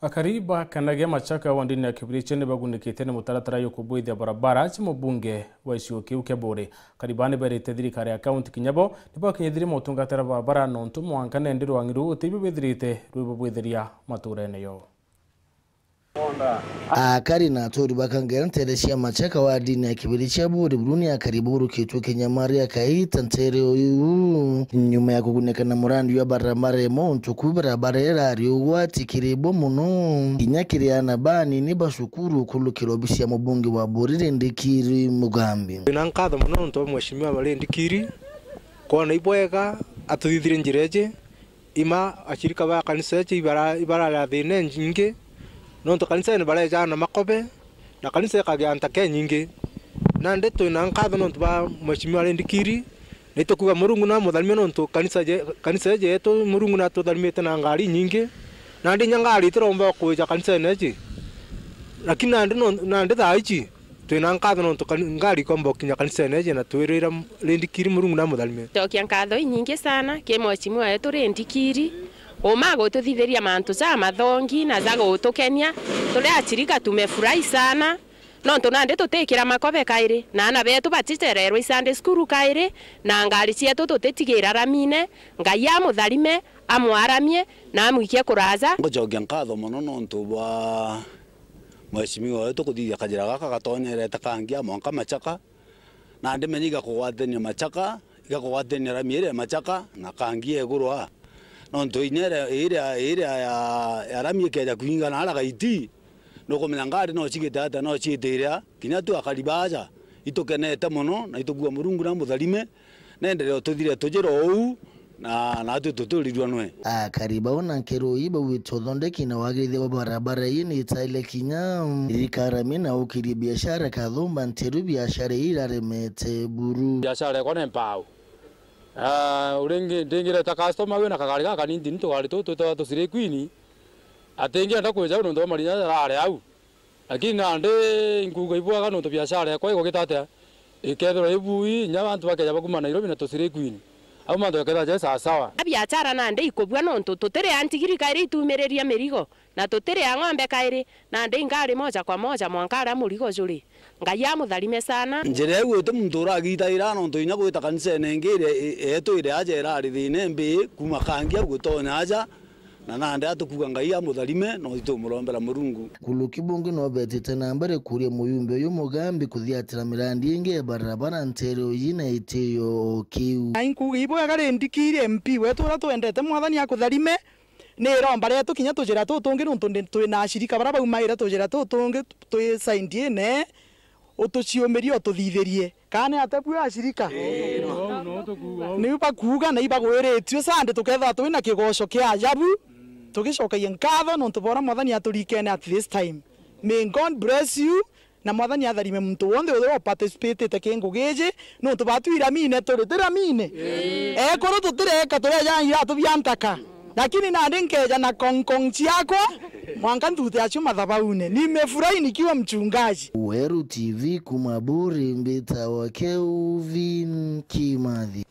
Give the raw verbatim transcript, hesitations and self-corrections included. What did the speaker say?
Akari ba Kanagia Machaka wa ndini ya Kibirichia ni bagunikite ni mutaratara jukubwithia barabara cia mubunge wa gicigo kiu kia Buuri. Akari baa ni berite thirikari ya kaunti kinya bo ni bakinyithirie motungatira barabara nontu mwanka nendi rwang'i ruu utibio bwithirite rwibubwithiria maturene yoo. Akari na aturi ba Kangera nteere cia Machaka wa ndini ya Kibirichia Buuri buru ni akari baurukitue kinyamaria kaita nteere uyu nyuma ya kugunika na murandi jwa barabara imwe untu ku barabara irari ugwati kiri bo mono kinya kiri aana banini ba cukuru ukurukira obisi ya mubunge wa Buuri Rindikiri Mugambi. Twina nkatho mono nontu bwa Mheshimiwa Rindikiri kwona ibwega atuthithirie njira iji. Ima ashirika ba kanisa iji ibara-, ibarari na thiina inyingi, nontu kanisene barejaga na makobe, na kanisa ikagia ntaka inyingi. Nandi twina nkatho nontu bwa Mheshimiwa Rindikiri, na itukuga Murungu namutharimie nontu kanisa je-, kanisa iji yetu Murungu natutharimite na ngari inyingi. Nandi inya ngari itiromba kwija kanisene iji, lakini nandi non-, nandi thaa iji, twina nkatho nontu kani-, ngari ikomba gukinya kanisene iji na twirira m-, Rindikiri Murungu namutharime. Cokia nkatho inyingi sana ki Mheshimiwa wetu Rindikiri, uma gututhithiria mantu jamathongi na ja gutukenia. Turi ashirika tumefurahi sana, nontu nandi tutikira makobe kairi, na aana betu baticererwe i Sunday school kairi, na ngari cietu tutitigira ramine. Ngai amutharime, amwaramie, na amwikie kuraja. Ngucokia nkatho mono nontu bwa Mheshimiwa wetu kuthithia kajira gaka gatonyerete kangia mwanka Machaka, na ndimenya igakugwatania Machaka, igakugwatania rami iria ya Machaka na kangia iguru aa. Nontu inya iria, iria, iria ya, ya rami ikeja kwingana ara gaiti, nukumenya ngari no cigite atia, no ciitire a, kinya tu akari baaja, itukenete mono na itukuga Murungu na mutharime. Nendere ututhire tujira uu, na, natwi tutiurirua nwe. Akari bau na nkero ii bauite uthondeki na wagirithia bwa barabara ii ni itaile kinya. Thirikari amina ukirie biashara kathumba nteru biashara ii iraremete buru. Biashara yakwa ni mpau. Ah, uringi-, ndingireta customer wina kagari gaka ni ntini tugari tu twitawa tu slay queen. Atingienda kwija au nontu bwa marinya jarari au. Lakini nandi inkuuga ibwega nontu biashara yakwa igugita atia, ikethirwa ibui, inya antu bakeja bakuma Nairobi na tu slay queen, au mantu jakethirwa jai sawasawa. Biashara nandi ikubua nontu tutiri a ntigiri kairi itumiriria mirigo, na tutiri a ng'ombe kairi, nandi ingari moja kwa moja mwanka aria murigo juri. Ngai amutharime sana. Njira iu iti muntu uragitaira nontu inya gwita kanisene ingi iria i-, yetu iria aja irari thiina imbi kuma kangi au gutonya aja. Na nandi atukuga Ngai amutharime, no itumurombera Murungu. Nkuruki bungi no betite na mbere kuria muyumbe uyu Mugambi kuthiatira mirandi ingi ya barabara nteere uyu na itiyo o kiu. Na inkuuga ibwega Rindikiri M P wetu uria twendete, Mwathani akutharime. Ni iromba rietu kinya tujira tutungi nontu ndi-, twina ashirika baria baumaire tujira tutungi twi side ine, utuciumirie ututhithirie. Kana ni atia bua ashirika? Niu bakuuga na ibagwiritue Sunday tukethirwa twina kigoco kia ajabu, tugicokagia nkatho nontu bora Mwathani aturikene at this time. May God bless you, na Mwathani atharime muntu wonthe uria uparticipatite ki ngugi iji, nontu batu iramine turi, tiramine? Ekuru tutireka, tureja iratubia ntaka. Lakini nandi nkeja na kongkong ciakwa, mwanka nthute acio mathabaune. Nimefurahi nikiwa mchungaji. Weru T V kuma Buuri, mbitawa Kelvin Kimathi.